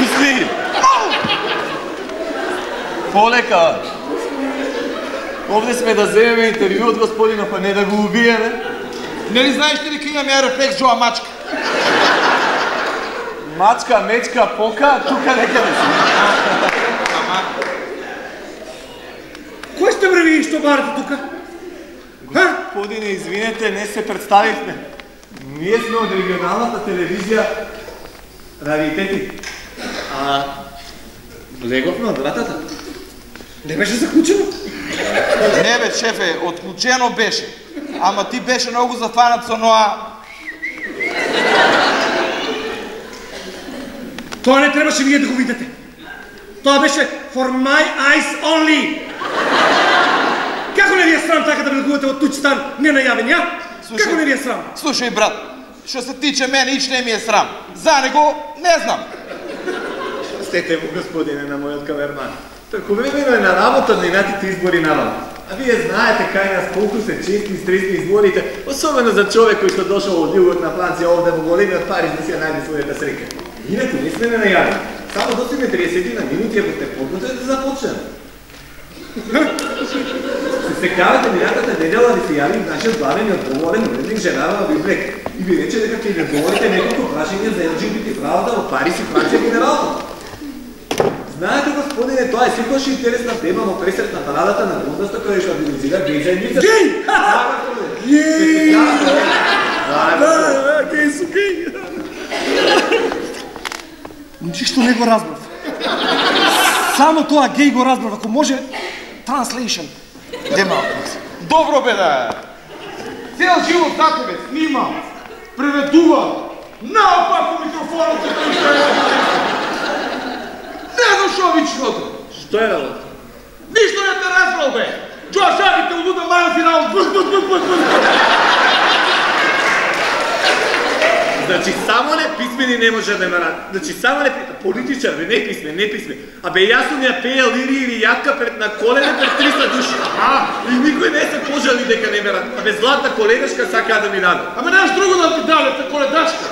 Пусти! Полека! Овде сме да земеме интервју од господина, па не да го убиеме. Нели знаеш ли дека имам ја рефлекс Джоа мачка? Мачка, мечка, пока, тука некаде си. Кој сте бре ви што барате тука? Господине, извинете, не се представивме. Ние сме од регионалната телевизија Раритети. Влеговме од вратата. Не беше заклучено? Не бе, шефе, отклучено беше. Ама ти беше многу зафанат со ноа... Тоа не требаше вие да го видите. Тоа беше for my eyes only. Како не ви е срам така да влегувате од туѓ стан ненајавен, ја? Како не ви е срам? Слушај, брат, што се тиче мене, ич не ми е срам. За него, не знам. Стете му, господине, на мојот камерман. Тако времено е на работа на инатите избори наваму. А вие знаете кај нас колку се чести и стресни изборите, особено за човек кој што дошол од југот на Франција овде во големиот Париз да си ја најде својата среќа. Инаку не сме ненајавени. Само достигне 30 на минути ако сте подготвени да започнеме. Се сеќавате минатата недела да се јави нашиот главен и одговорен уредник Жерар Библек и ви рече дека ќе ви одговорите неколку прашања за LGBT правата во Париз и Франција генерално. Знаете, господине, тоа е секогаш интересна тема во пресрет на парадата на Лондонста која што организира геј заедница. Геј! Геј! Да, геј су геј. Ништо не го разбрав. Само тоа геј го разбрав, ако може translation. Дема. Добро бе да. Цел живот за тебе снима, преведува, наопаку микрофонот се тој не дошо вичното. Што е работа? Ништо не те разбрал бе. Джоа шагите улуда маја финал. Значи само неписмени не може да ме рад. Значи само политичар бе, не писмен, не писмен. Абе јас сум ја пеел Ири или јатка пред на колене пред 300 души. И никој не се пожали дека не ме рад. Абе златна коледашка сака да ми даде. Аме наш друго да ти даде, те коледашка.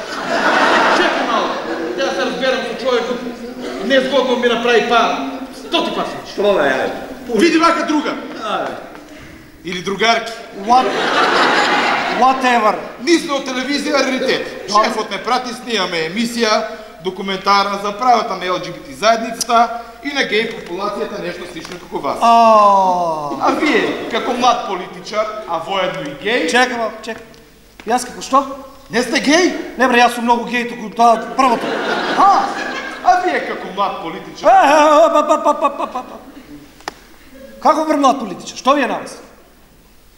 Чекай малко. Ја се разберам со човекот. Незгодно ми направи пар. 100 пар случи. Тоа е. Види вака друга. Или другарки. Whatever. Ние сме од телевизија Раритет. Шефот ме прати, снимаме емисија документарна за правата на LGBT заедницата и на геј популацијата, нешто слично како вас. А вие, како млад политичар, а воедно и геј... Чекай. Јас како што? Не сте геј? Не бре, јас сум многу геј, туку тоа првото. А вие како млад политичар... Како бре млад политичар? Што ви е на вас?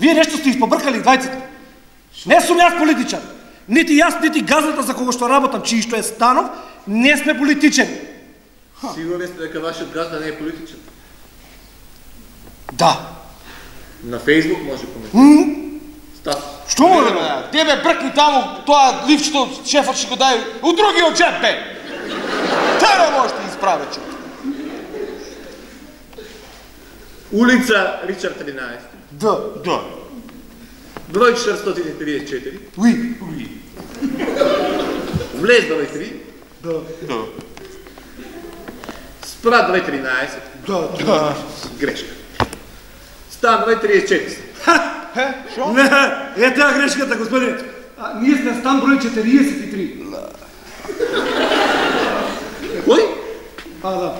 Вие нешто сте испобркали двајцата. Не сум јас политичар. Нити јас, нити газата за кого што работам, чии што е Станов, не сме политичени. Сигурни сте дека вашиот газда не е политичен? Да. На Фейсбук може коментира. Статус. Што може бе? Тебе бркни таму тоа ливчето шефот ќе го дај у другиот джеб бе. Тебе можете исправе човек. Улица Ричард 13. Да. Број 434. Уи. Влез број 3. Да. Спрат број 13. Да. Грешка. Стан број 34. Шо? Не, е таа грешката, господине. Ние сме стан број 43. Кој? Да.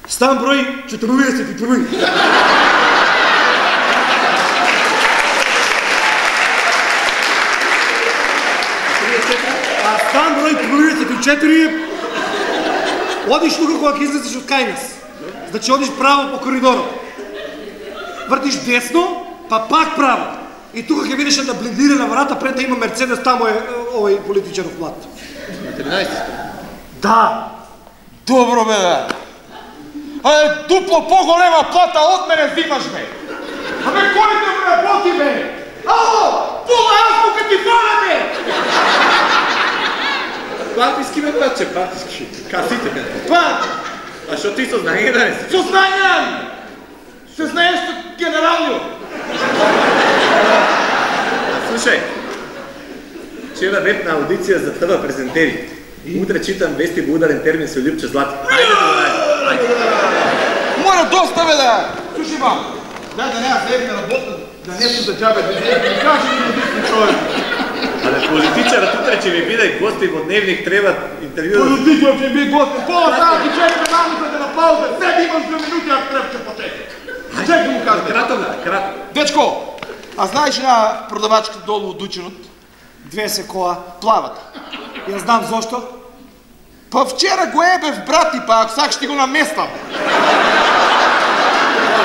Стан број 41. Стан број 34 одиш тука кога ќе излезеш од кај нас. Значи одиш право по коридорот. Вртиш десно, па пак право. И тука ќе видиш една блендирана врата пред да има Мерцедес, таму е овој политичаров млад. На 13. Да. Добро бе да. Дупло по-голема плата од мене взимаш бе. Абе кој те ме работи бе? Ало, пола азбука ти фана бе. Партиски ме братче, партиски. Касите ме. А што ти со знаење да не си? Со знаење! Се знаеш што генерално. Слушај, вчера бев на аудиција за ТВ презентери. Утре читам вести во ударен термин со Љупче Злати. Ајде да го најдем. Мора доставе да. Слушай ма. Да не заедна работа, да нешто да џабе да кажи ми да човек. Але политичарот утре ќе ви биде гости во Дневник, треба интервју. Политичарот ќе биде гости. Пола таа ќе чека намука да на пауза. Седи имам 2 минути, ако треба ќе почекам. Чекай му кажа. Кратко. Дечко, а знаеш на продавачка долу од Дучинот? 2 се коа. Плавата. Ја знам зошто. Па вчера го ебев брати, па ако сакаш ти го наместам.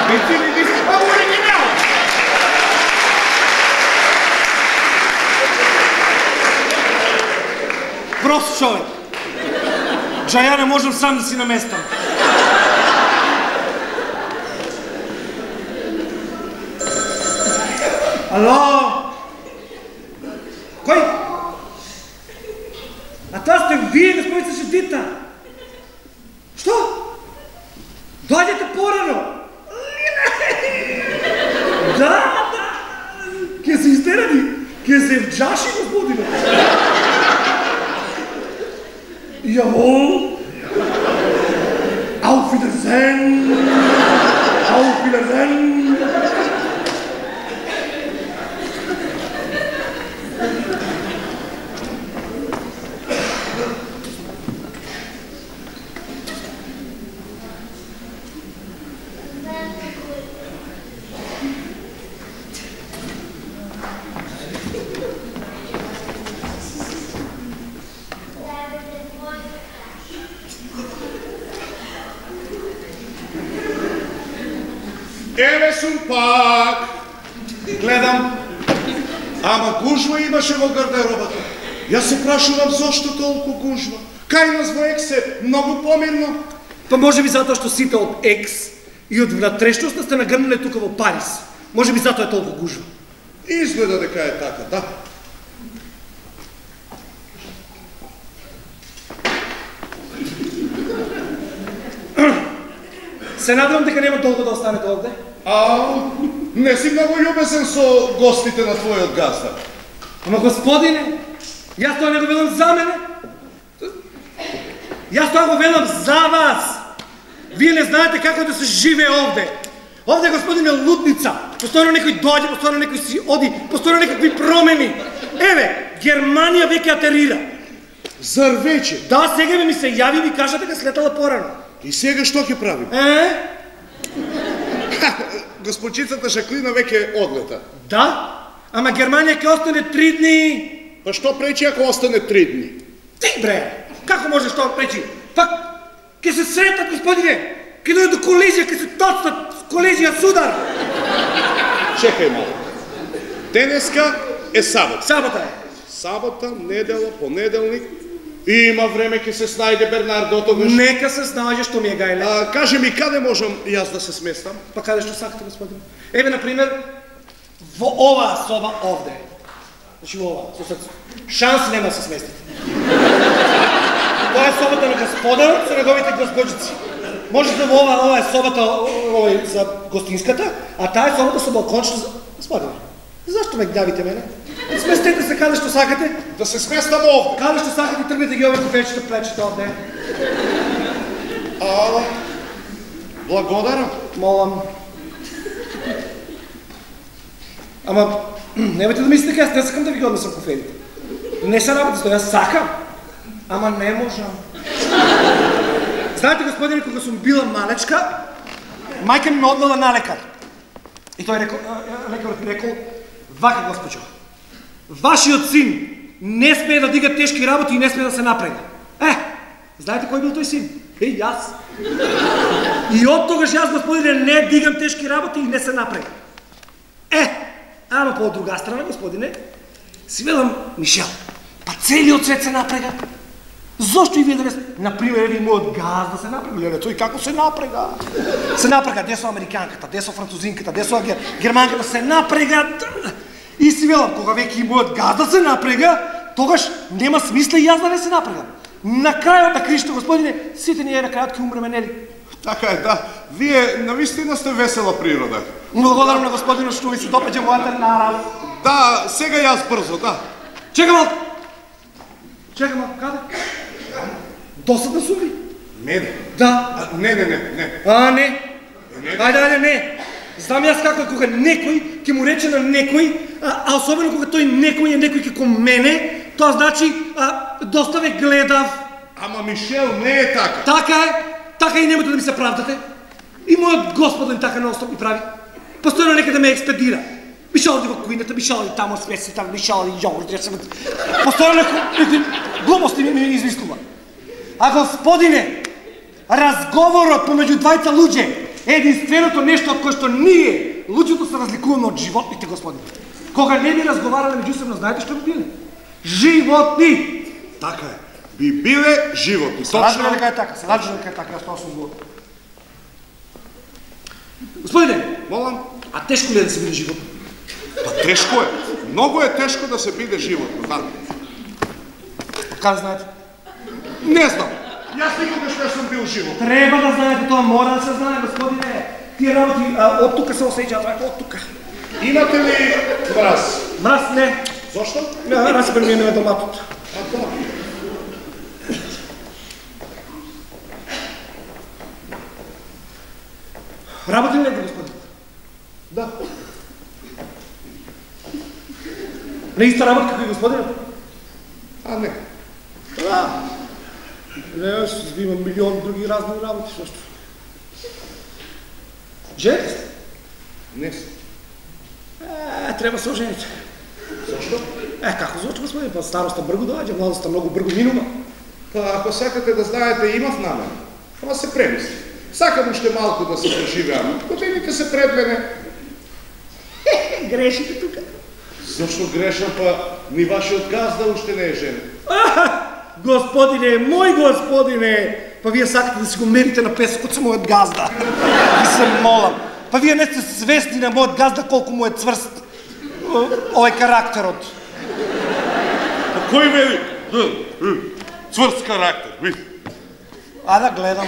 Бити ли ви си па оригинал? Прост човек. Джа ја не можам сам да си наместам. Ало? Кој? А таа сте вие, господица Шедита. Што? Дојдете порано. Да. Ке се истерани. Ке се вджаши, господине. Jawohl. Auf Wiedersehen. Auf Wiedersehen. Еве сум пак. Гледам. Ама гужва имаше во гардеробата. Јас се прашувам зошто толку гужва. Кај нас во Екс е многу помирно. Па може би затоа што сите од Екс и од внатрешноста сте нагрнале тука во Париз. Може би затоа е толку гужва. Изгледа дека е така, да. Се надевам дека нема долго да останете овде. Не си многу љубезен со гостите на твојот газда. Ама господине, јас тоа не го велам за мене. Јас тоа го велам за вас. Вие не знаете како да се живее овде. Овде, господине, лудница. Постојано некој дојде, постојано некој си оди, постојано некакви промени. Еве, Германија веќе атерира. Зар веќе? Да, сега ми се јави и ми кажа дека слетала порано. И сега што ќе правим? Господчицата Жаклина веќе одлета. Да, ама Германија ќе остане 3 дни. Па што пречи ако остане 3 дни? Ти бре, како можеш тоа пречи? Пак, ќе се сретат, господине, ќе дојдат до колизија, ќе се тоцнат, колизија, судар. Чекај малку. Денеска е сабота. Сабота е. Сабота, недела, понеделник. Има време ќе се снајде Бернардо тогаш. Нека се снајде што ми е гајле. Кажи ми каде можам јас да се сместам? Па каде што сакате, господин? Еве, например, во оваа соба овде. Значи во оваа, со срцето. Шанс нема да се сместите. Тоа е собата на господарот со неговите госпоđици. Може да во ова е собата за гостинската, а таа е собата со балкончето за господине. Зашто ме гнавите мене? Сместете се каде што сакате. Да се сместам овде. Каде што сакате, тргнете ги овие куфечета, плечета овде. Благодарам. Молам. Ама, немојте да мислите дека јас не сакам да ви ги однесам куфелите. Не се работи што, јас сакам, ама не можам. Знаете, господине, кога сум била малечка, мајка ми ме одвела на лекар. И тој рекол, лекарот ми рекол, вака, госпочо, вашиот син не смее да дига тешки работи и не смее да се напрега. Знаете кој бил тој син? Јас. И од тогаш јас, господине, не дигам тешки работи и не се напрега. Ама по друга страна, господине, си велам, Мишел, па целиот свет се напрега. Зошто и вие да не сме? Например, еви мојот газда се напрега. Леле, тој како се напрега? Се напрега, де со американката, де со французинката, де со германката, се напрега. И си велам, кога веќе и мојот газда се напрега, тогаш нема смисла и јас да не се напрегам. На крајот на кришто, господине, сите ние на крајот ќе умреме, нели? Така е, да. Вие навистина сте весела природа. Благодарам на господинот што ви се допаѓа мојата нарав. Да, сега јас брзо, да. Чекам малку. Чекам малку, каде? Досадна сум ли? Мене? Да. Не. Не. Ајде, не. Знам јас како е кога некој ќе му рече на некој, а особено кога тој некој е некој како мене, тоа значи доста ве гледав. Ама Мишел не е така. Така и немате да ми се правдате. И мојот господин така наостоп ми прави. Постојано нека да ме експедира. Мишел оди во кујната, Мишел оди тамо свеси, тамо Мишел оди јогурт, постојано некој глупости ми извислува. А господине, разговорот помеѓу двајца луѓе е единственото нешто од кое што ние, луѓето, се разликуваме од животните, господине. Кога не би разговарале меѓусебно, знаете што би биле? Животни! Така е. Би биле животни. Точно дека е така, јас тоа сум го. Господине, Молам? а тешко ли е да се биде животно? Па тешко е. Многу е тешко да се биде животно, знам. Как знаете? Не знам. Јас никогаш не сум бил живот. Треба да знаете тоа, мора да се знае, господине. Тие работи од тука се осеќаат, од тука. Имате ли мраз? Мраз не. Зошто? Распер ми е доматот. А тоа? Работи ли негде, господин? Да. Не иста работа како и господинот? А не. Не, јас имам милион други разни работи, сошто. Жените сте? Не сум. Треба се ожените. Зошто? Како зошто, господин? Па староста бргу доаѓа, младоста многу бргу минува. Па ако сакате да знаете, имав намен. Ама се премисли. Сакам уште малку да се преживеам. Годините се пред мене. Грешите тука. Зошто грешам, па ни вашиот газда уште не е женен. Господине, мој господине, па вие сакате да си го мерите на песокот со мојот газда. Ви се молам. Па вие не сте свесни на мојот газда колку му е цврст овој карактерот. Па кој вели? Цврст карактер, ви. А да гледам.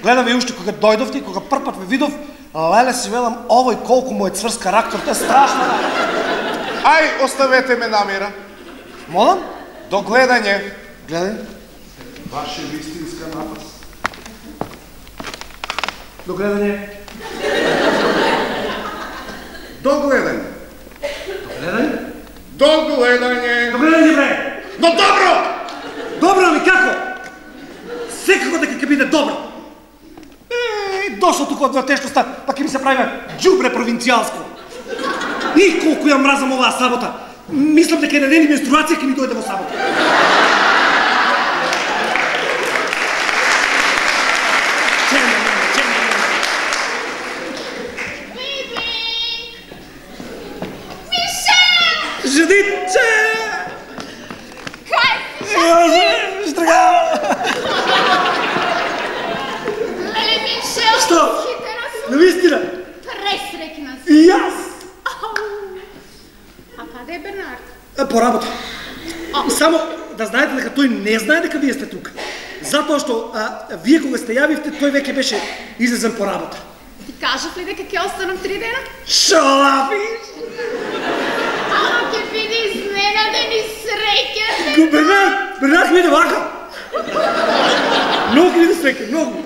Гледам и уште кога дојдовте и кога првпат ве видов, леле си велам овој колку му е цврст карактер, тоа е страшно. Ај, оставете ме намира. Молам? До гледање. Гледај. Ваше вистинска напас. До гледање. До гледање. Гледај. До гледање. До гледање, бре. Но добро! Добро, али како? Секако дека ќе биде добро. Дошол тука од вратешноста, па ќе ми се прави џубре провинцијалско. И колку ја мразам оваа сабота. Мислам дека на ден менструација ќе ми дојде во сабота. Ждите! Кај си? Штрага! Леле, Мишел, Што? хитера сум. Навистина? Пресрекна сум. И јас? А каде е Бернард? По работа. Само да знаете дека тој не знае дека вие сте тука. Затоа што вие кога сте јавивте, тој веќе беше излезен по работа. Ти кажав ли дека ќе останам 3 дена? Шо лафиш? Ама ќе биде изненаден и среќен. Бернард ми иде вака. Многу ми иде среќен, многу.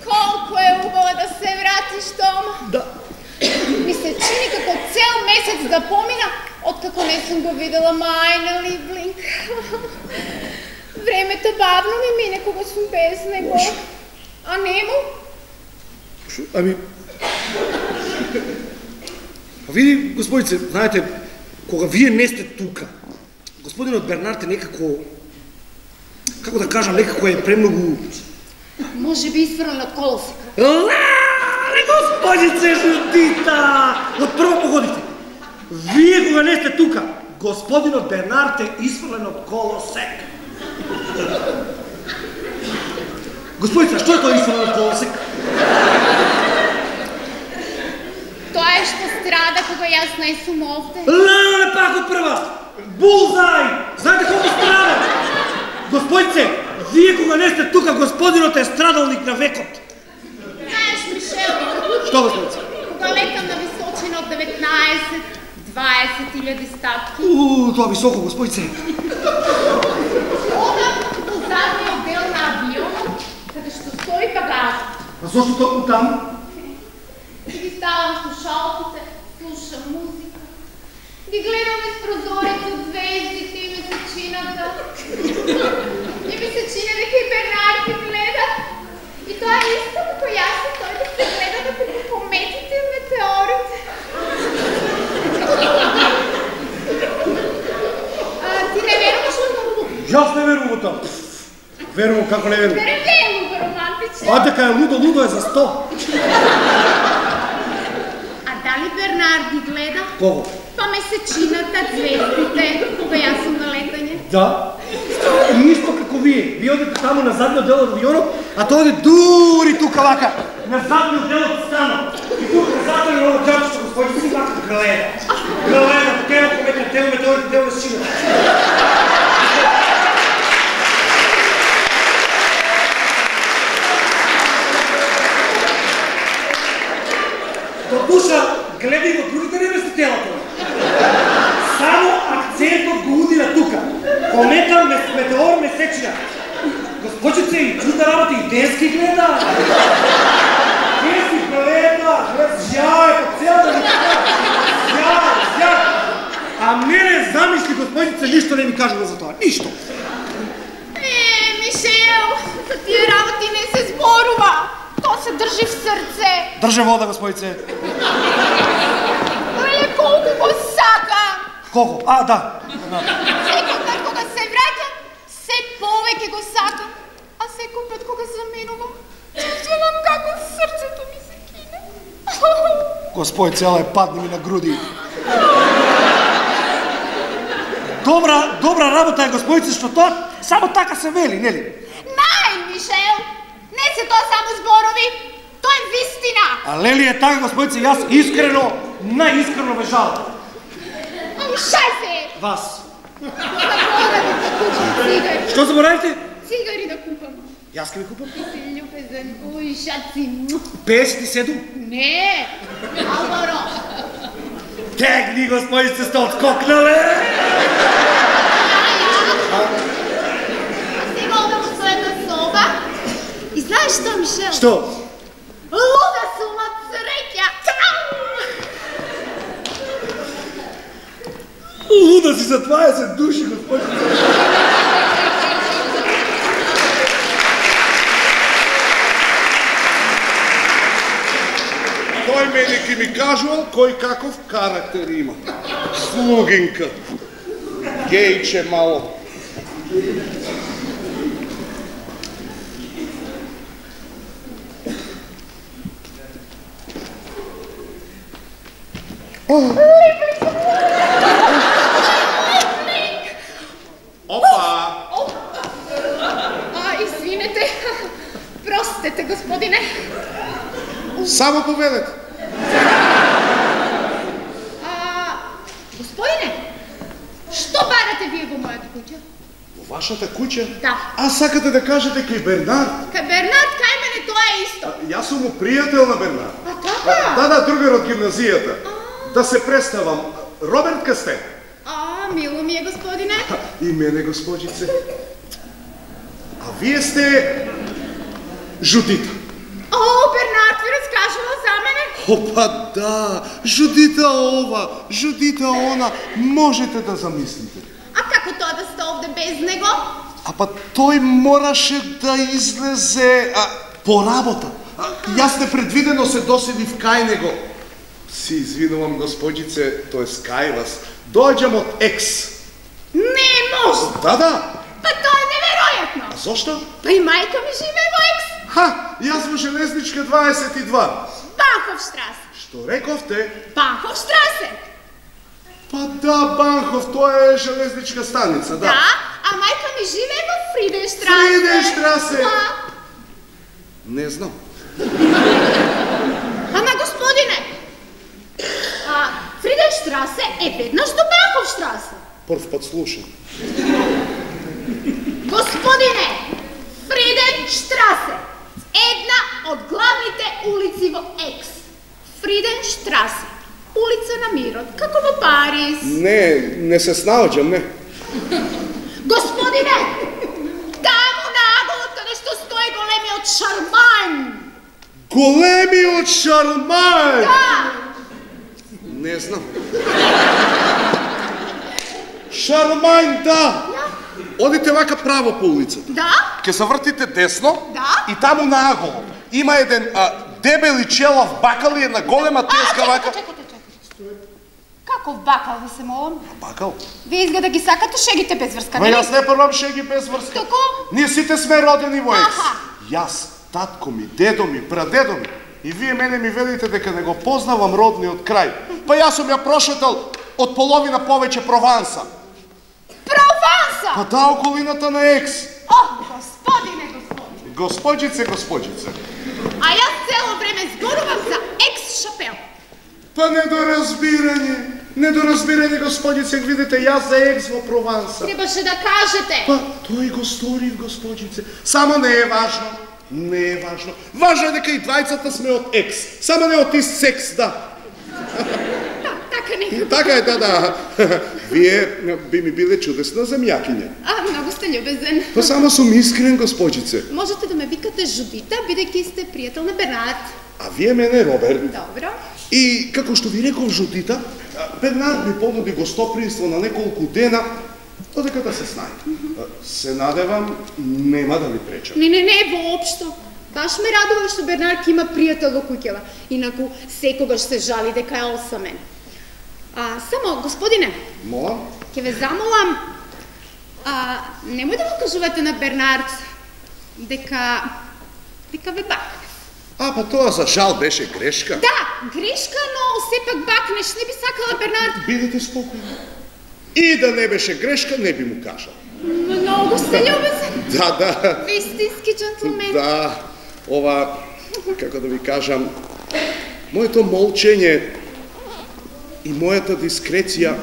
Колку е убаво да се вратиш дома. Да. Ми се чини како цел месец да помина, откако не сум го видела мајна Ливлинг. Времето бавно ми мине кога сум без него. А нему? Ами... Па види, господице, знаете, кога вие не сте тука, господинот Бернард е некако... Како да кажам, некако е премногу... Може би изфрлен од колосека. Леле, господице Жудита! Од прво погодите. Вие кога не сте тука, господинот Бернард е изфрлен од колосек. Господица, што е тоа изфрлен од колосек? Тоа е што страда кога јас не сум овде. Леле, пак од прва! Булзај! Знаете колку страда? Господице, вие кога не сте тука, господинот е страдалник на векот. Знаеш, Мишел, Што, господице? кога летам на височина од 19-20 000 стапки, Тоа високо, господице. одам до задниот А зошто токму таму? Ги ставам слушалките, слушам музика. Ги гледам из прозореца звездите и месечината. И ми се чини дека и Бернард ги гледа. И тоа е исто како јас и тој да се гледа како кометите и метеорите. Ти не веруваш во тоа? Јас не верувам во тоа. Верувам како не верувам. Верувам во романтично. А дека е лудо е за 100. А дали Бернард ги гледа? Кого? Па месечината, звездите, кога јас сум на летање. Да. И исто како вие. Вие одите таму на задниот дел од авионот, а тој оди дури тука вака, на задниот дел од станот. И тука затвори ово џабчето, господи, си вака гледа. Гледа, тема кометна, тема метеорите, тема месечината. До душа, гледај во другите небесни телата. Само акцентот го удира тука. Комета, метеор, месечина. Госпожице, и чудна работа, и денски гледа. Денски гледа, жај, по целата ми жај. А мене замисли, госпожице, ништо не ми кажува за тоа. Ништо. Мишел, за тие работи не се зборува. То се држи в срце. Држе вода, господице. Леле, колку го сакам. Колку? А, да. Секој пат кога се враќам, се повеќе го сакам. А секој пат кога заминувам, чувствувам како срцето ми се кине. Господице, ела падни ми на груди. Добра работа е, господице, што тоа само така се вели, нели? Нај, Мишел, не се тоа само зборови, тоа е вистина. А лели е така, господице, јас искрено, најискрено ве жалам. Шај се! Вас. Заборавив да купам цигари. Што заборавите? Цигари да купам. Јас ке ви купам. Ти си љубезен, уј, шаци. 57? Не, Алваро. Тегни, господице, сте отскокнале! Сега одам во својата соба. И знаеш што, Мишел? Што? Луда сум од среќа. Луда си за 20 души, господице. Тој мене ки ми кажувал кој каков карактер има. Слугинка. Гејче мало. Опа! Извинете. Простете, господине. Само поведете. Господине, што барате вие во мојата куќа? Во вашата куќа? Да. А сакате да кажете кај Бернард? Кај Бернард, кај мене тоа е исто. Јас сум му пријател на Бернард. А така? Да, другар од гимназијата. Да се представам. Роберт Касте. Мило ми е, господине. И мене, госпожице. А вие сте Жудита. Бернард ви раскажува за мене? Опа, да. Жудита ова, Жудита она. Можете да замислите. А како тоа да сте овде без него? А па тој мораше да излезе по работа. Јас непредвидено се доседив кај него. Си извинувам, господице, тоест кај вас. Доаѓам од Екс. Не може! Да. Па тоа е неверојатно! А зошто? Па и мајка ми живее во Екс. Јас во Железничка 22. Банховштрасе. Што рековте? Банховштрасе. Па да, Банхов, тоа е железничка станица, да. Да, а мајка ми живее во Фриденштрасе. Фриденштрасе. Да. Не знам. Ама господине, Фриденштрасе е веднаш до Банховштрасе. Прв пат слушам. Господине, Фриденштрасе, една од главните улици во Екс. Фриденштрасе, улица на мирот, како во Париз. Не се снаоѓам, не. Господине, таму наголо каде што стои големиот шарман. Големиот Шармајн! Да! Не знам. Шармајн, да! Одите вака право по улицата. Да? Ке се вртите десно Да. и таму наголо има еден дебел и челав бакал и една голема теска вака. Чекайте. Каков бакал ви се молам? Бакал? Вие изгледа ги сакате шегите без врска, Ма нели? јас не првам шеги без врска. Како? Ние сите сме родени во екс. Аха. Јас, татко ми, дедо ми, прадедо ми. И вие мене ми велите дека не го познавам родниот крај. Па јас сум ја прошетал од половина повеќе Прованса. Прованса! Па да, околината на екс. О, господине. Господјице. А јас цело време зборувам за екс-шапел. Па недоразбирање, господјице, видите, јас за екс во Прованса. Требаше да кажете. Па, тој го сторив, господјице. Само не е важно. Важно е дека и двајцата сме од екс. Само не од ист секс, да. Така некако. Така е, да. Вие би ми биле чудесна земјакиња. Многу сте љубезен. Па само сум искрен, господјице. Можете да ме викате Жудита, бидејќи сте пријател на Бернард. А вие мене, Роберт. Добро. И, како што ви реков Жудита, Бернард ми понуди гостопријство на неколку дена, додека да се снајде. Се надевам, нема да ви пречам. Не, воопшто. Баш ме радува што Бернард има пријател во куќава. Инаку, секогаш се жали дека е осамен. Само, господине, Молам? ќе ве замолам, немој да го кажувате на Бернард дека ве бакнеш. Па тоа за жал беше грешка. Да, грешка, но сепак бакнеш, не би сакала Бернард. Бидете спокојни. И да не беше грешка, не би му кажал. Многу сте љубезен. Да. Вистински джентлмен. Да, ова, како да ви кажам, моето молчење и мојата дискреција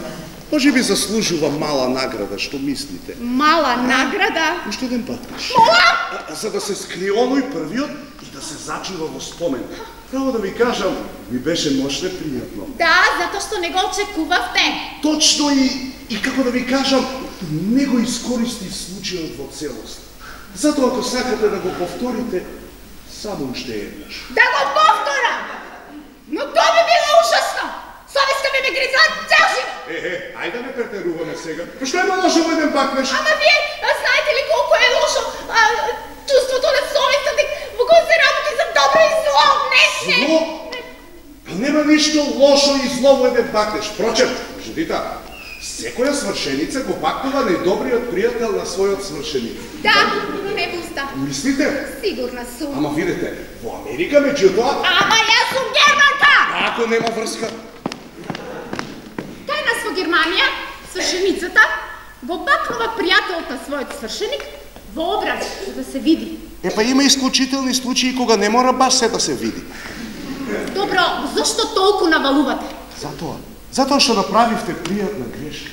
може би заслужува мала награда, што мислите? Мала награда? Уште еден пат. Мола! За да се скрие оној првиот и да се зачува во спомен. Право да ви кажам, ми беше мощно пријатно. Да, затоа што не го очекувавте. Точно и како да ви кажам, не го искористив случајот во целост. Затоа ако сакате да го повторите, само уште еднаш. Да го повторам! Но тоа би било ужасно! Совеста ми ме гриза цел живот! Ајде не претеруваме сега. Што е лошо во еден бакнеш? Ама вие знаете ли колку е лошо чувството на совеста во кој се работи за добро и зло, не? Зло? Нема ништо лошо и зло во еден бакнеш. Впрочем, Жудита, секоја свршеница го бакнува најдобриот пријател на својот свршеник. Да, но не буста. Мислите? Сигурна сум. Ама видите, во Америка меѓутоа... Ама јас сум германка! Ако нема врска... Кај нас во Германија, свршеницата го бакнува пријателот на својот свршеник во образ, за да се види. Па има исклучителни случаи кога не мора баш се да се види. Добро, зашто толку навалувате? Затоа што направивте пријатна грешка.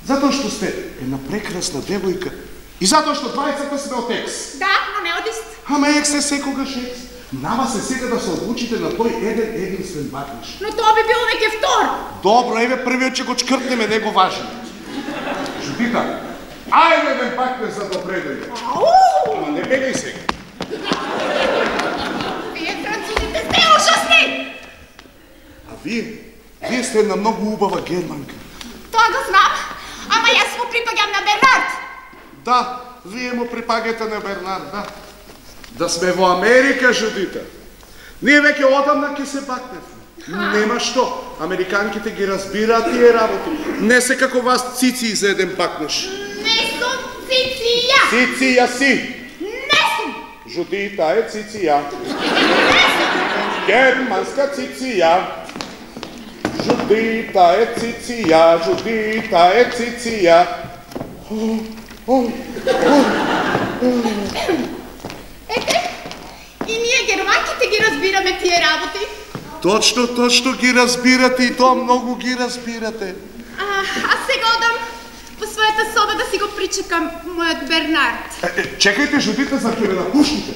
Затоа што сте една прекрасна девојка. И затоа што двајцата сме од екс. Да, но не од ист. Ама екс е секогаш екс. Нама се сега да се одлучите на тој единствен бакнеш. Но тоа би било веќе втор. Добро, еве првиот ќе го чкртнеме, не го важи. Жудита, ајде еден бакнеш за добре дојде. Ама не бегај сега. Вие французите сте ужасни! А вие сте една многу убава германка. Тоа го знам, ама јас му припаѓам на Бернард. Да, вие му припаѓате на Бернард, да. Да сме во Америка, Жудита. Ние веќе одамна ќе се бакневме. Нема што. Американките ги разбираат тие работи. Не се како вас цици за еден бакнеш. Не сум циција. Циција си. Не сум. Жудита е циција. Германска циција. Жудита е циција. Жудита е циција. Ете, и ние германките ги разбираме тие работи. Точно ги разбирате и тоа многу ги разбирате. А сега одам по својата соба да си го причекам мојот Бернард. Чекајте, Жудита, за ќе ве напуштите.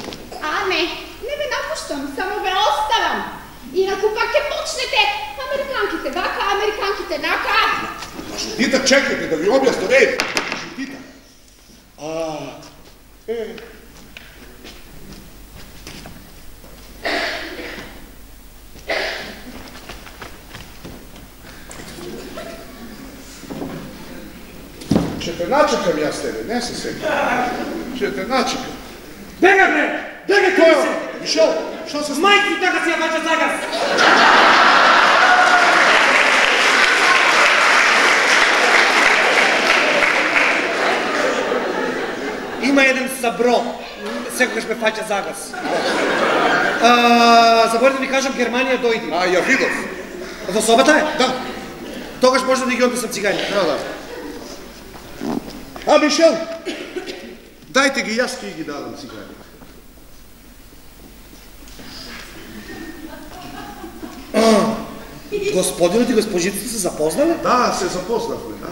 Не ве напуштам, само ве оставам. Инаку пак ќе почнете американките вака, американките нака. Жудита, чекајте да ви објаснам, Жудита. Ще те начекам јас тебе, не се секам. Ще те начекам. Бега, бре! Бега, кој се! Мишел, што се случи? Мајки така си ја бача загаз! Има еден сабро, секогаш ме фаќа загаз. Заборите да ви кажам, Германија дојди. Ја видов. Во собата е? Да. Тогаш може да ги однесам цигари. Да. Мишел, дајте ги, јас ќе ги дадам цигари. Господинот и госпожицата се запознале? Да, се запознавме, да.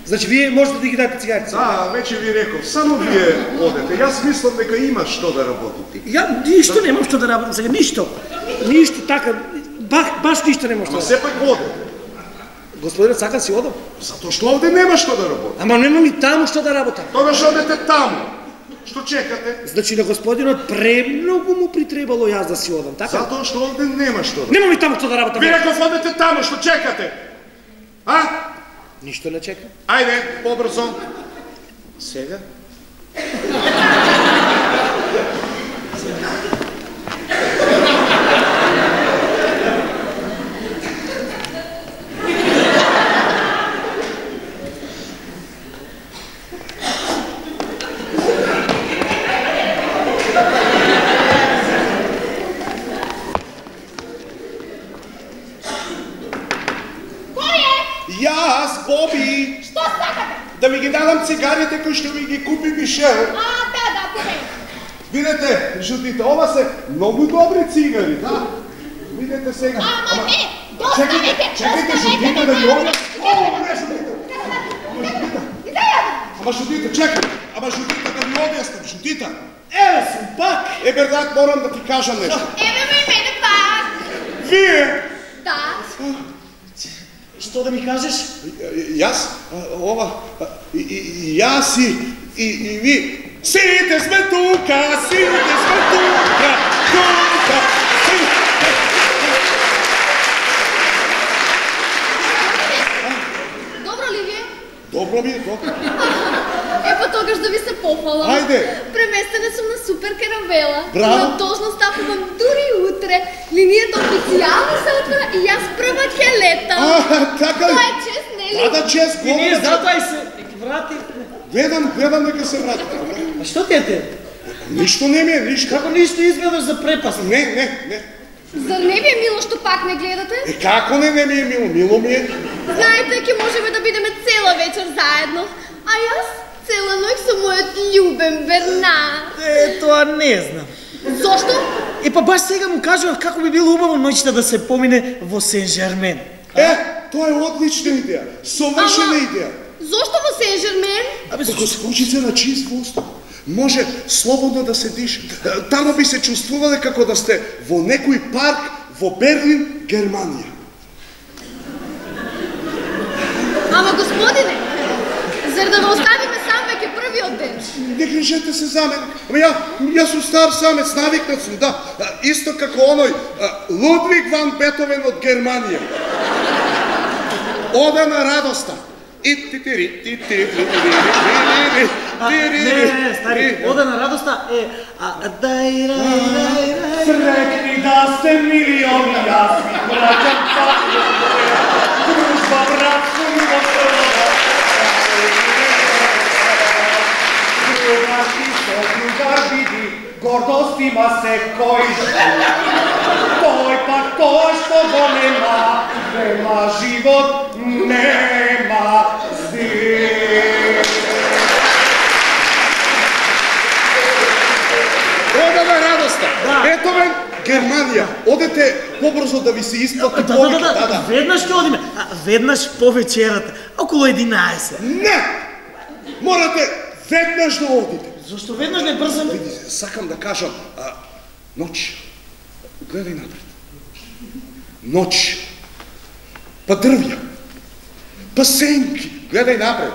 Значи, вие можете да ги дадете цигари? Да, веќе ви реков, само вие одете. Јас мислам дека има што да работите. Ја ништо немам што да работам сега, ништо. Ништо така, баш ништо немам што Ама да сепак одете. Господинот сака си одам. Затоа што овде нема што да работи. Ама немам и таму што да работам. Тогаш одете таму. Што чекате? Значи на господинот премногу му притребало јас да си одам, така? Затоа што овде нема што да. Немам и таму што да работам. Ви реков одете таму, што чекате? Ништо не чекам. Ајде, побрзо. Сега? Јас, Боби! Што сакате? Да ми ги дадам цигарите кои што ми ги купи Мишел. Да, повеќе. Видете, жутите, ова се многу добри цигари, да? Видете сега. Ама не, доставете, Чекайте, жутите да ги објас. Не, жутите. Ама жутите, чекай. Ама жутите да ви објаснам, жутите. Еве сум пак. Бернат, морам да ти кажам нешто. Еве ме мене пак. Вие! Да. Што да ми кажеш? Јас, ова, јас и ви. Сите сме тука, сите сме тука, тука, сите. Добро ли ви е? Добро ми е, добро. Тогаш да ви се пофалам. Ајде. Преместена сум на Супер Каравела. Браво. На должност стапувам дури утре. Линијата официјално се отвора и јас прва ќе летам. Така Тоа ли? е чест, нели? Да, чест, И ние говори. затоа и се врати. Гледам дека се врати. А што ти е те? Ништо не ми е, ништо. Како ништо изгледаш за препаст? Не. Зар не ви е мило што пак не гледате? Како не ми е мило? Мило ми е. Знаете, ќе можеме да бидеме цела вечер заедно. А јас цела ноќ со мојот љубен Бернар. Тоа не знам. Зошто? Па баш сега му кажував како би било убаво ноќта да се помине во Сен-Жермен. Тоа е одлична идеја. Совршена идеја. Зошто во Сен-Жермен? Ако скочите на чист воздух, може слободно да се диша. Тамо би се чувствувале како да сте во некој парк во Берлин, Германија. Ама господине, зар да го оставиме сам веќе првиот ден? Не грижете се за мене. Ама јас сум стар самец, навикнат сум, да. Исто како оној Лудвиг ван Бетовен од Германија. Ода на радоста. Не, стари, ода на радоста е Срекни да сте милиони, јас ви праќам патија моја, дружба, братство, љубов, другар ти со другар види, гордост има секој. Тој пак тоа што го нема живот, нема здив. Ода на радоста. Ето ме Германија. Одете побрзо да ви се исплати повеќе. Да. Веднаш ќе одиме. Веднаш по вечерата, околу 11. Не! Морате веднаш да одите. Зошто веднаш не брзаме? Види, сакам да кажам, ноќ. Гледај напред. Ноќ. Па дрвја. Па сенки. Гледај напред.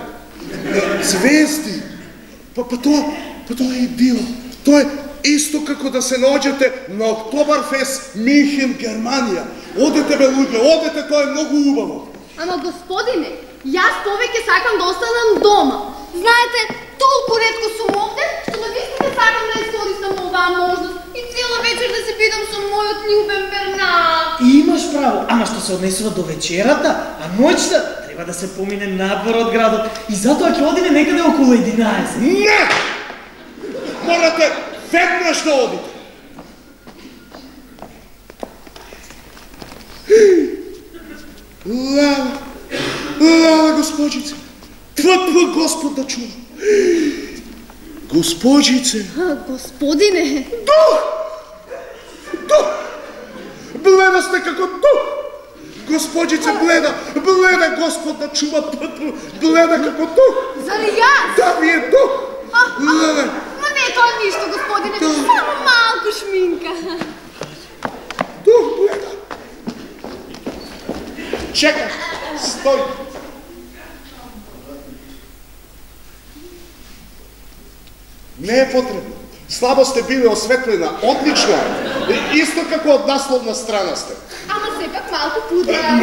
Звезди. Па тоа е идила. Тоа е исто како да се наоѓате на Октоберфест Минхен, Германија. Одете бе луѓе, одете, тоа е многу убаво. Ама господине, Јас повеќе сакам да останам дома. Знаете, толку ретко сум овде, што навистина сакам да искористам оваа можност и цела вечер да се бидам со мојот љубен Бернард. Имаш право, ама што се однесува до вечерата, а ноќта треба да се помине надвор од градот и затоа ќе одиме некаде околу 11. Не! Морате веднаш да одите. Лела, госпожице, твој Господ да чува. Госпожице. Господине. Дух! Бледа сте како дух. Госпожице, бледа Господ да чува. Бледа како дух. Зали јас? Да, ви е дух. Леле. Ма не е тоа ништо, господине, само малку шминка. Дух, бледа. Чекай, стој. Не е потребно. Слабо сте били осветлена, отлично е. Исто како од насловна страна сте. Ама сепак малку пудра.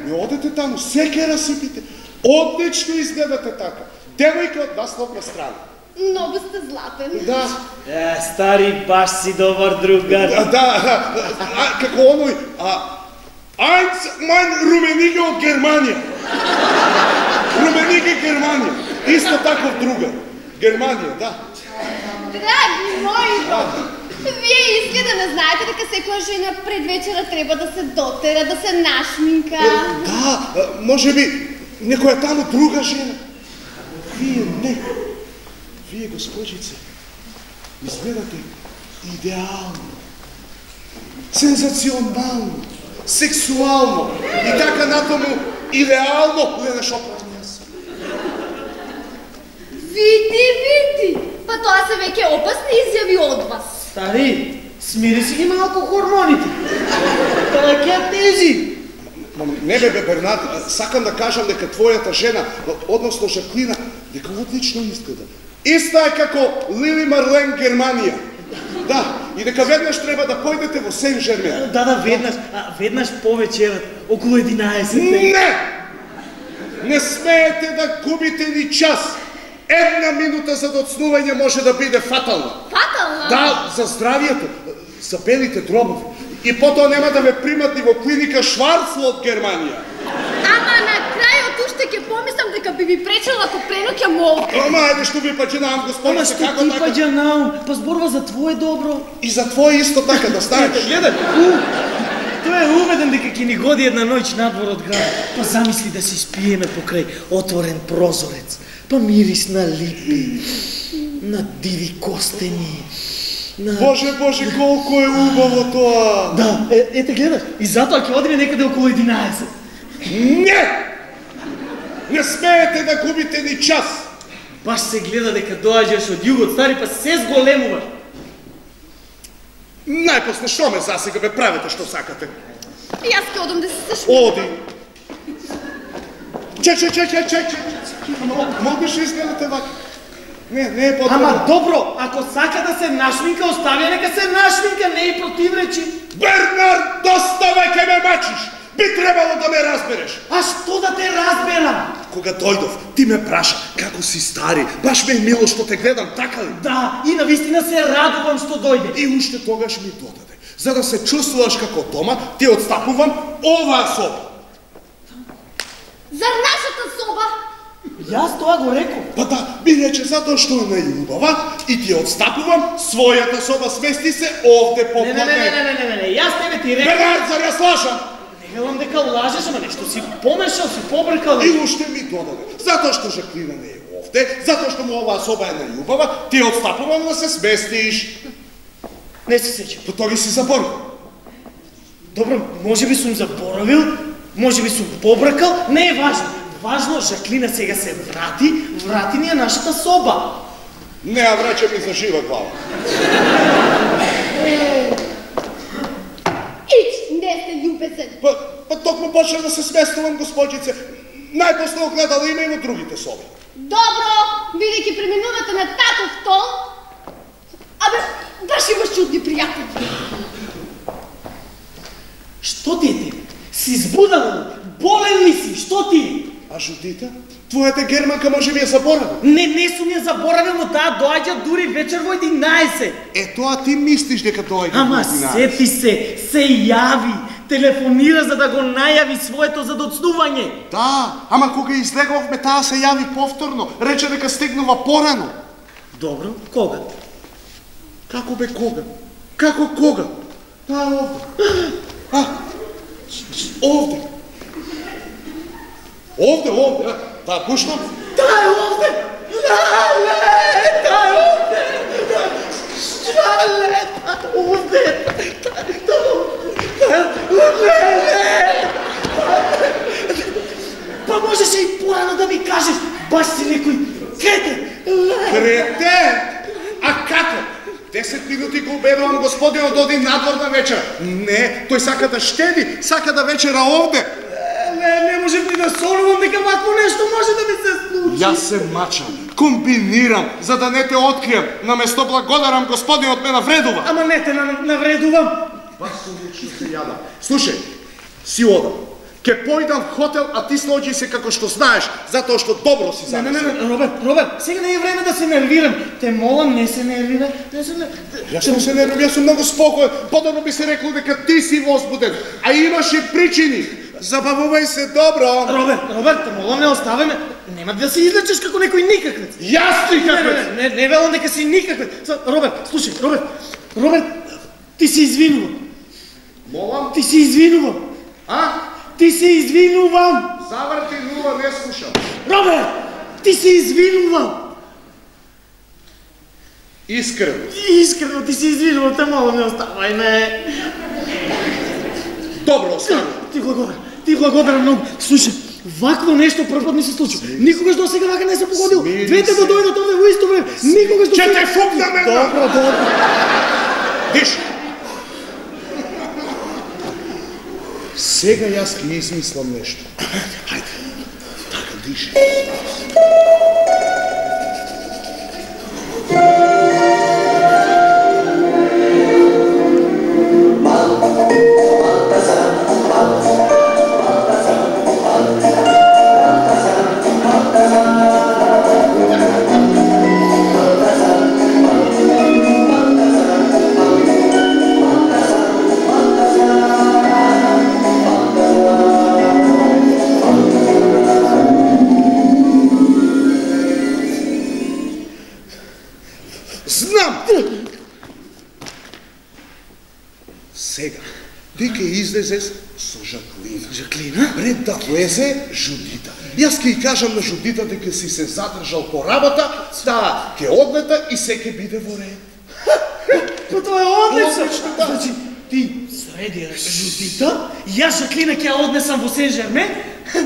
Не одете таму, се ке расипите. Отлично изгледате така. Девојка од насловна страна. Многу сте златен. Да. Стари, баш си добар другар. Да, како оној, Eins mein Rumenige од Германија. Румениге Германија. Исто таков другар. Германија, да. Драги мои, вие изгледа не знаете дека секоја жена пред вечера треба да се дотера, да се нашминка. Да, може би некоја таму друга жена. Вие не. Вие, госпожице, изгледате идеално, сензационално, сексуално и така натаму идеално, Лена Шопран јас. Види. Па тоа се веќе опасни изјави од вас. Стари, смири си ги малку хормоните. Тоа ќе тежи. Не бе, Бернард, сакам да кажам дека твојата жена, односно Жаклина, дека отлично изгледа. Иста е како Лили Марлен Германија. Да, и дека веднаш треба да појдете во Сен-Жермен. Да, веднаш по вечерот, околу 11. Не! Не смеете да губите ни час. Една минута за доцнување може да биде фатална. Фатална? Да, за здравието, за белите дробови. И потоа нема да ве примат ни во клиника Шварцло од Германија. Ама на крајот уште ќе помислам дека би ми пречела ако преноќам овде. Ама ајде што ви паѓанам, Ама господине, што како ти така? паѓанам? Па зборува за твое добро. И за твое исто така да станеш. Гледај, тој е уведен дека ќе ни годи една ноќ надвор од град. Па замисли да се спиеме покрај отворен прозорец. Па мирис на липи, на диви костени, на... Боже, колку е убаво тоа! Да, ете гледаш, и затоа ќе одиме некаде околу 11. Не! Не смеете да губите ни час! Баш се гледа дека доаѓаш од југот, стари, па се зголемуваш. Најпосле, што ме засега, бе, правите што сакате? Јас ќе одам да се сашминкам. Оди! Чек! Могаш ли изгледате вака? Не е потребно. Ама добро, ако сака да се нашминка, остави нека се нашминка, не и противречи. Бернард, доста веќе ме мачиш! Би требало да ме разбереш. А што да те разберам? Кога дојдов, ти ме праша како си стари. Баш ме е мило што те гледам, така ли? Да, и навистина се радувам што дојде. И уште тогаш ми додаде. За да се чувствуваш како дома, ти отстапувам оваа соба. За нашата соба? Јас тоа го реков. Па да, ми рече затоа што е најубава и ти отстапувам, својата соба смести се овде попладне. Не, јас тебе ти реков. Бернард, зар јас лажам? Не велам дека лажеш, ама нешто си помешал, си побркал. И уште ми додаде. Затоа што Жаклина не е овде, затоа што му оваа соба е најубава, ти отстапувам да се сместиш. Не се сеќам. Па тоа ги си заборил. Добро, може би сум заборавил, може би сум побркал, не е важно. Важно, Жаклина сега се врати ни е нашата соба. Не ја враќа ми за жива глава. Ич, не сте љубезен. Па токму почнав да се сместувам, господјице. Најпосле огледала има и во другите соби. Добро, бидејќи преминувате на татов тон, абе, баш имаш чудни пријатели. Што ти е тебе? Си збудал? Болен ли си? Што ти? А Жудита? Твојата германка може би ја заборави. Не сум ја заборавил, но таа доаѓа дури вечер во 11. Тоа ти мислиш дека доаѓа во 11. Ама сети се јави, телефонира за да го најави своето задоцнување. Да, ама кога излеговме таа се јави повторно, рече дека стигнува порано. Добро, кога? Како бе кога? Како кога? Таа е овде. Овде. Да, пуштам. Таа е овде. Па можеше и порано да ми кажеш, баш си некој кретен. Кретен? А како? 10 минути го обедувам господинот оди надвор на вечер. Не, тој сака да штеди, сака да вечера овде. Не можев ни да солувам дека вакво нешто може да ми се случи. Јас се мачам, комбинирам, за да не те открием. Наместо благодарам господинот ме навредува. Ама не те навредувам. Баш лично се јадам. Слушај, си одам. Ке појдам в хотел, а ти слоđи се како што знаеш, затоа што добро си замислил. Не, Роберт, сега не е време да се нервирам. Те молам, не се нервира. Јас не се нервирам, јас сум многу спокоен. Подобро би се рекло дека ти си возбуден, а имаше причини. Забавувај се добро. Роберт, те молам, не остави ме. Нема да се излечеш како некој никаквец. Јас никаквец. Не велам дека си никаквец. Роберт, слушај, Роберт, ти се извинувам. Молам? Ти се извинувам. А? Ти се извинувам. Заврти нула, не слушам. Роберт, ти се извинувам. Искрено ти се извинувам, те молам, не оставај ме. Добро, остави. Ти благодарам многу. Слушай, вакво нешто прв пат ми се случи. Никогаш до сега вака не се погодил. Двете да дојдат овде во исто време. Никогаш до сега. Ќе те фукнам една. Добро. Диш. Сега јас ќе измислам нешто. Хајде. Така, диши. Сега, ти ќе излезеш со Жаклина. Пред да влезе Жудита. Јас ќе ја кажам на Жудита дека си се задржал по работа, да ќе одлета и се ќе биде во ред. Па тоа е одлично. Значи, ти среди Жудита, јас Жаклина ќе ја однесам во Сен-Жермен,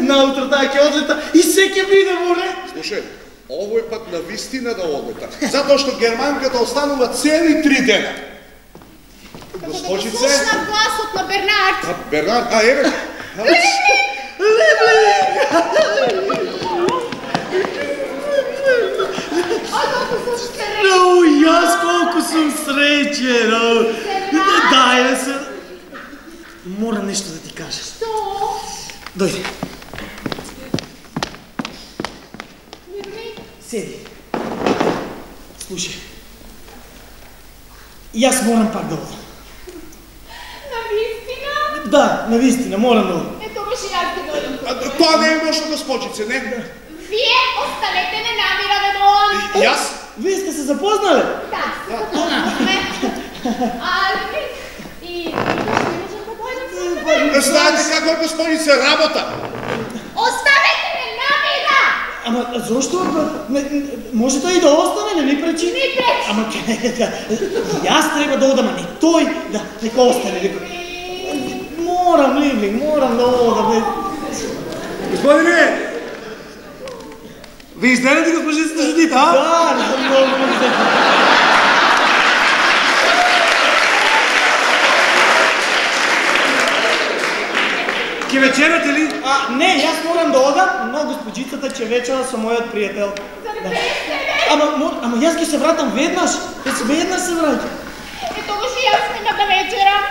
наутро таа ќе одлета и се ќе биде во ред. Слушај, овој пат на вистина да одлета, затоа што германката останува цели 3 дена. Госпожице? Слушнав гласот на Бернард. Бернард, еве. Јас колку сум среќен. Да, се. Морам нешто да ти кажам. Што? Дојди. Мирни? Седи. Слушај. Јас морам пак да одам. Да, навистина, морам да одам. Тогаш и јас ќе дојдам. Тоа не е ношто, госпожице, не? Вие оставете ме намира да доам. Јас? Вие сте се запознале? Да, се запознавме. Али, и што можам да дојдам? Знаете како е, госпожице, работа? Оставете ме намира! Ама зошто? Може тој и да остане, не ни пречи? Ни пречи. Ама јас треба да одам, а не тој да нека остане. Морам, Ливлинг, морам да одам. Господине! Ви изненати госпожицата Жудита, а? Да, много Ке вечерате ли? Не, јас морам да одам, но госпожицата ќе вечера со мојот пријател. Ама јас ќе се вратам веднаш. Веднаш се враќам. Тогаш и јас нема да вечерам.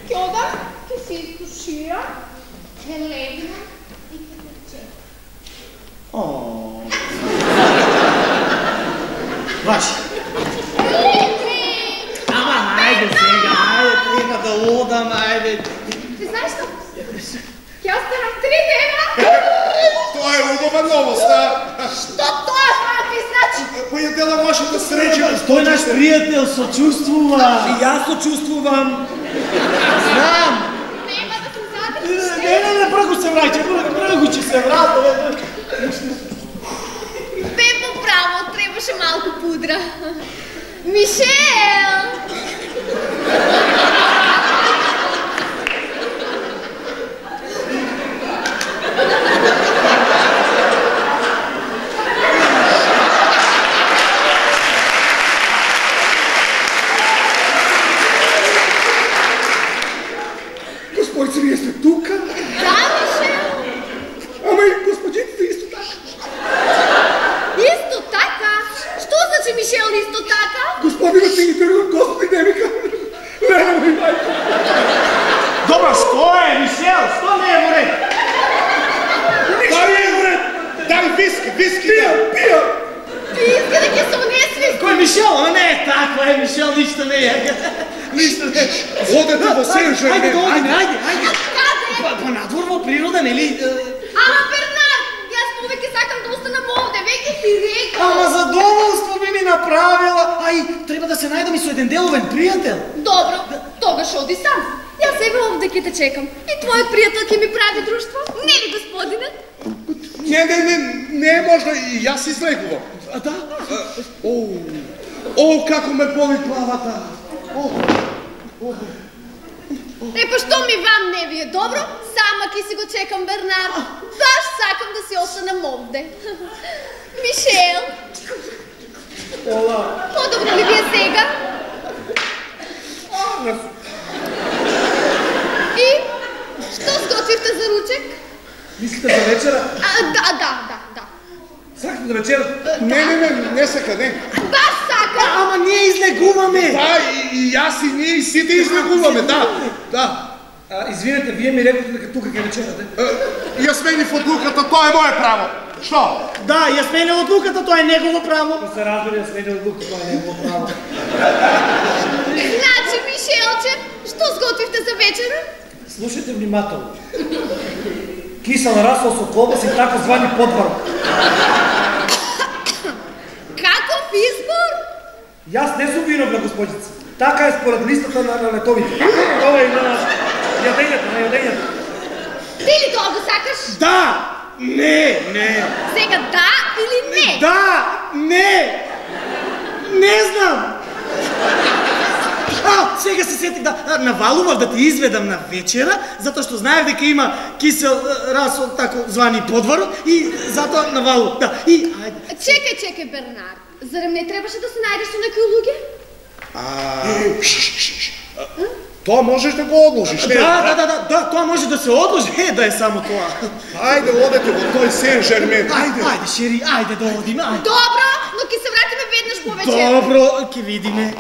Ќе одам, ќе се изтуширам, ќе легнам и ќе Баш. Ама, ајде сега, ајде, треба да одам, ајде. Ти знаеш што? Ќе останам 3 дена. Тоа е убава новост, а? Што тоа ти значи? Па ја дела вашата среќа. Тој наш пријател сочувствува. И јас сочувствувам. Знам. Нема да се задржиш. Не, прво се враќа, прво ќе се врата. Бе по право, требаше малку пудра. Мишел! Господице, вие сте тука? Да, Мишел! Ама и господините исто така. Исто така? Што значи Мишел исто така? Господинът ми ги тргна, Господи, не ми кажа. Лена ми мајка. Добро, што е, Мишел? Што не е во ред? Дај е уред! Дај виски! Пија! Ти иска да ќе се унесли? Кој Мишел? Ама не е така, Мишел, ништо не е. Ништо не е. Одете во Сен-Жермен. Ајде да одиме, ајде. Каде? Па надвор во природа, нели? Ама Бернар, јас повеќе сакам да останам овде, веќе ти рекам. Ама задоволство би ми направила. Ај, треба да се најдам и со еден деловен пријател. Добро, тогаш оди сам. Јас сега овде ќе те чекам. И твојот пријател ќе ми прави друштво? Нели, господине? Не е можно, и јас излегувам. А да? О, како ме боли главата. Па што ми вам не ви е добро? Сама ќе си го чекам Бернар. Баш сакам да си останам овде. Мишел. Подобро ли ви е сега? И што сготвивте за ручек? Мислите за вечера? Да. Сакате да вечера? Не сака, не. Баш сакам. Ама ние излегуваме. Да, и јас и ние и сите излегуваме, да. Извинете, вие ми рекохте дека тука ќе вечерате. Ја сменив одлуката, тоа е мое право. Што? Да, ја сменил одлуката, тоа е негово право. Да се разбере, ја сменил одлуката, тоа е негово право. Значи, Мишелче, што сготвивте за вечера? Слушайте внимателно. Кисел расол со колбас и тако звани подварок. Каков избор? Јас не сум виновна, господица. Така е според листата на летовите. Ова е на јадењето. Ти ли тоа го сакаш? Да! Не! Сега да или не? Да! Не! Не знам! Сега се сетих да навалував да ти изведам на вечера, затоа што знаев дека има кисел расол, тако звани подварок, и затоа навалував. Да, и ајде. Чекај, Бернар. Зарем не требаше да се најдеш со некои луѓе? Тоа можеш да го одложиш, не? Да, тоа може да се одложи, да е само тоа. Ајде, одете во тој Сен-Жермен. Ајде, Шери, ајде да одиме, ајде. Добро, но ќе се вратиме веднаш повеќе. Добро, ќе видиме.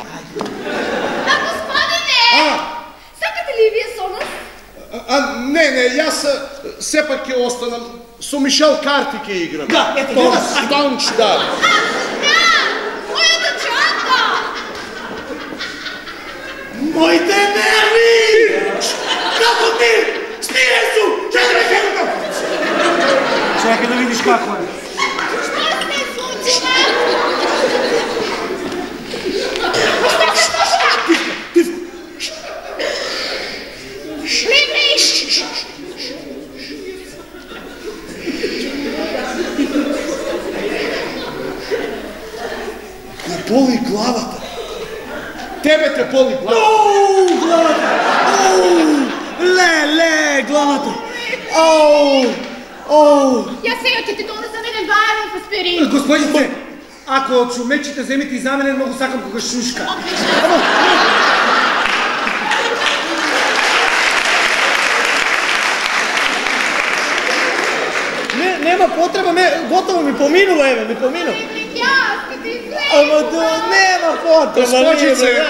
Господине! Сакате ли вие со нас? Не, јас сепак ќе останам. Со Мишел карти ќе играм. Да, ето, гледаш. Тонч, да. Мојата чанта! Моите нерви! Како ти? Спире су! Чекај да видиш како е. Што се случи? Што се случи? Боли главата. Тебе те боли главата. Оу, главата! Ле, главата! Јас сега ќе ти донесам еден бајаров аспирин. Господице, ако чумечите земите и за мене, многу сакам кога шушка. Нема потреба, готово ми поминува, еве, ми поминува. Јас ќе ти излезам. Ама нема потреба. Госпожице,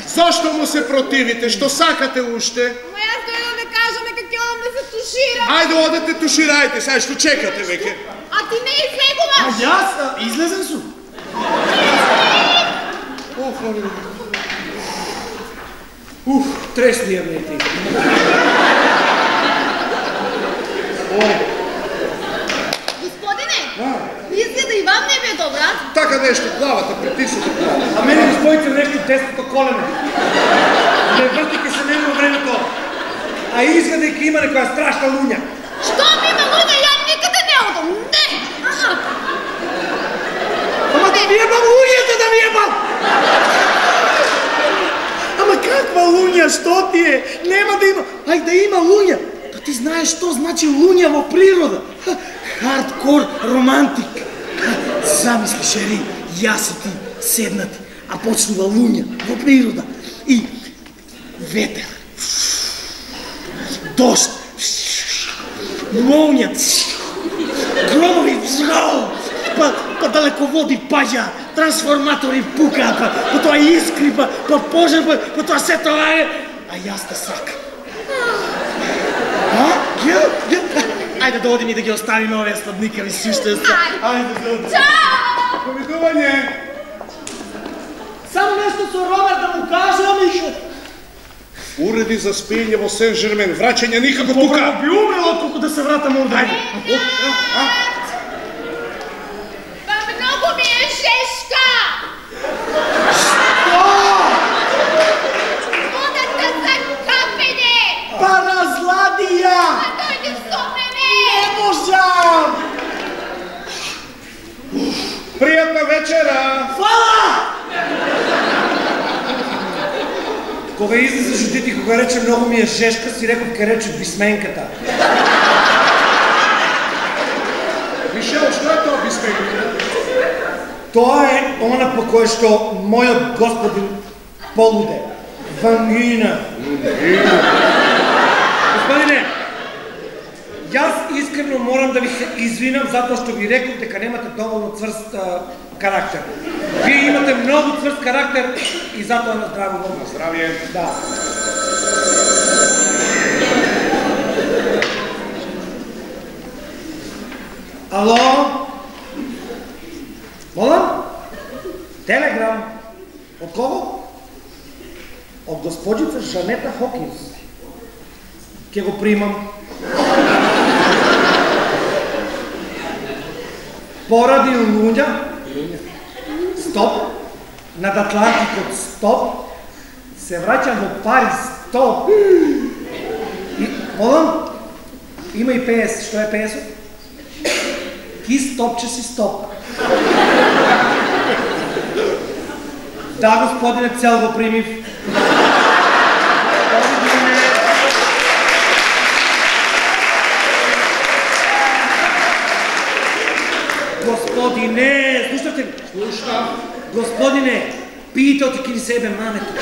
зашто му се противите? Што сакате уште? Ама јас дојдам да кажам дека ќе одам да се туширам. Ајде, одете, туширајте, сега што чекате веќе? А ти не излегуваш. Јас излезен сум. Тресни ја не ти. Господине, изгледа и вам не ви е добра. Така нещо, главата притисната. А мене господице нещо десното колено. Не въртике се нема времето. А изгледайки има некоја страшна луња. Што ми има луѓе, ја никаде не одам. Не! Ама да ви ебам луњата, да ви ебам! Ама каква луња, што ти е? Нема да има, ај да има луња. Па ти знаеш што значи луња во природа? Хардкор романтик. Замислиш, Ери, јас и ти седнати, а почнува луња во природа. И ветер, дожд, молња, громови, па далеководи паѓа, трансформатори пукаат, па тоа искри, па пожар, па тоа се тоа е, а јас те сакам. Ајде да одим и да ги оставиме овие сладникави суште. Ајде да одим. Чао! Повидување! Само нешто со Роберт да му кажам и што... Уреди за спиење во Сен-Жермен, враќање никако тука! Би умрел отколку да се вратам овде. Па многу ми е жешка! Што? Водата за капење! Па разлади ја! Па дојди со мене! Не можам! Пријатна вечера! Фала! Кога излезеш од дете, кога рече многу ми е жешка, си реков ке рече бисменката. Мишел, што е тоа бисменката? Тоа е она по кое што мојот господин полуде. Вангина. Господине, јас искрено морам да ви се извинам затоа што ви реков дека немате доволно цврст карактер. Вие имате многу цврст карактер и затоа на здраво во вас. Здравје. Да. Ало? Молам? Телеграм. Од кого? Од господица Жанета Хокинс. Ке го примам. Поради луѓа, стоп, над Атлантикот, стоп, се враќам во Париз, стоп. И, молам, има и PS, што е PS-от? Ки стоп, че си стоп. Да, господине, цел го примив. Господине, слушате ли? Слушам. Господине, питате ки ли себе мамето.